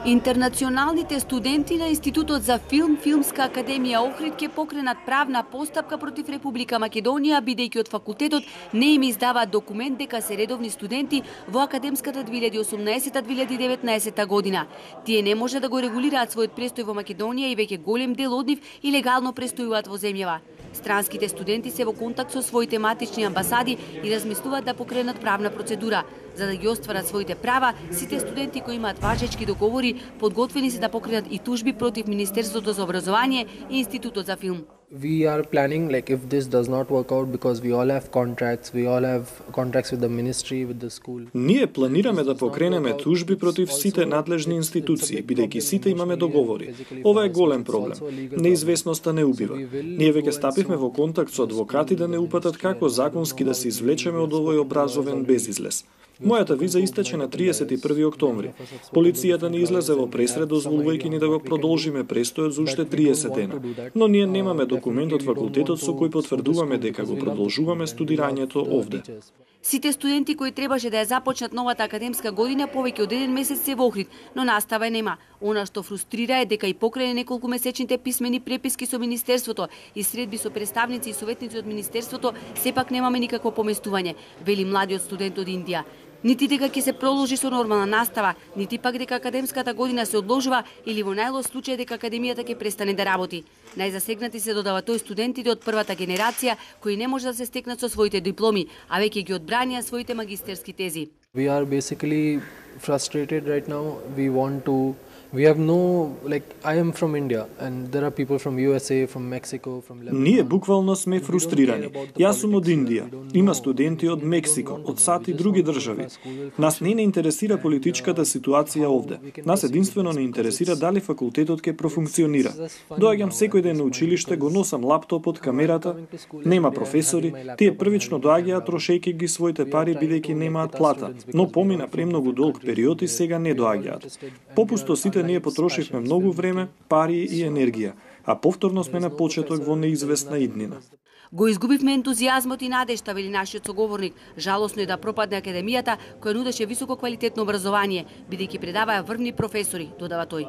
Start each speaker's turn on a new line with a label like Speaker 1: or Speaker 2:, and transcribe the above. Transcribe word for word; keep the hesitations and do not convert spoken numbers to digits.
Speaker 1: Интернационалните студенти на Институтот за филм, Филмска академија Охрид ќе покренат правна постапка против Република Македонија, бидејќи од факултетот не им издаваат документ дека се редовни студенти во академската две илјади и осумнаесета две илјади и деветнаесета година. Тие не може да го регулираат својот престој во Македонија и веќе голем дел од нив илегално престојуваат во земјава. Странските студенти се во контакт со своите матични амбасади и размислуваат да покренат правна процедура. За да ги остварат своите права, сите студенти кои имаат важечки договори подготвени се да покренат и тужби против Министерството за образование и Институтот за филм.
Speaker 2: We are planning, like, if this does not work out, because we all have contracts, we all have contracts with the ministry, with the school.
Speaker 3: Ние планираме да покренеме тужби против сите надлежни институции, бидејќи сите имаме договори. Ова е голем проблем. Неизвестноста не убива. Ние веќе стапивме во контакт со адвокати да не упатат како законски да се извлечеме од овој образовен безизлез. Мојата виза истече на триесет и први октомври. Полицијата ни излезе во пресред дозволувајќи ни да го продолжиме престојот за уште триесет дена. Но ние немаме документ од факултетот со кој потврдуваме дека го продолжуваме студирањето овде.
Speaker 1: Сите студенти кои требаше да ја започнат новата академска година повеќе од еден месец се во Охрид, но настава нема. Она што фрустрира е дека и покрај неколку месечните писмени преписки со Министерството и средби со представници и советници од Министерството, сепак немаме никакво поместување, вели младиот студент од Индија. Нити дека ќе се продолжи со нормална настава, нити пак дека академската година се одложува или во најлош случај дека академијата ќе престане да работи. Најзасегнати се додава тој студентите од првата генерација кои не може да се стекнат со своите дипломи, а веќе ги одбранија своите магистерски тези.
Speaker 2: We are basically frustrated right now. We want to We have no, like, I am from India and there are people from U S A, from Mexico, from Lebanon.
Speaker 3: Ние буквално сме фрустрирани. Јас сум од Индија. Има студенти од Мексико, од САД и други држави. Нас не не интересира политичката ситуација овде. Нас единствено не интересира дали факултетот ќе профункционира. Доаѓам секој ден на училиште, го носам лаптопот, камерата, нема професори, тие првично доаѓаат трошејќи ги своите пари бидејќи немаат плата, но помина премногу долг период и сега не доаѓаат. Попусто сите ние потрошивме многу време, пари и енергија, а повторно сме на почеток во неизвестна иднина.
Speaker 1: Го изгубивме ентузијазмот и надежта, вели нашиот соговорник. Жалосно е да пропадне академијата која нудеше високо квалитетно образование, бидејќи предаваа врвни професори, додава тој.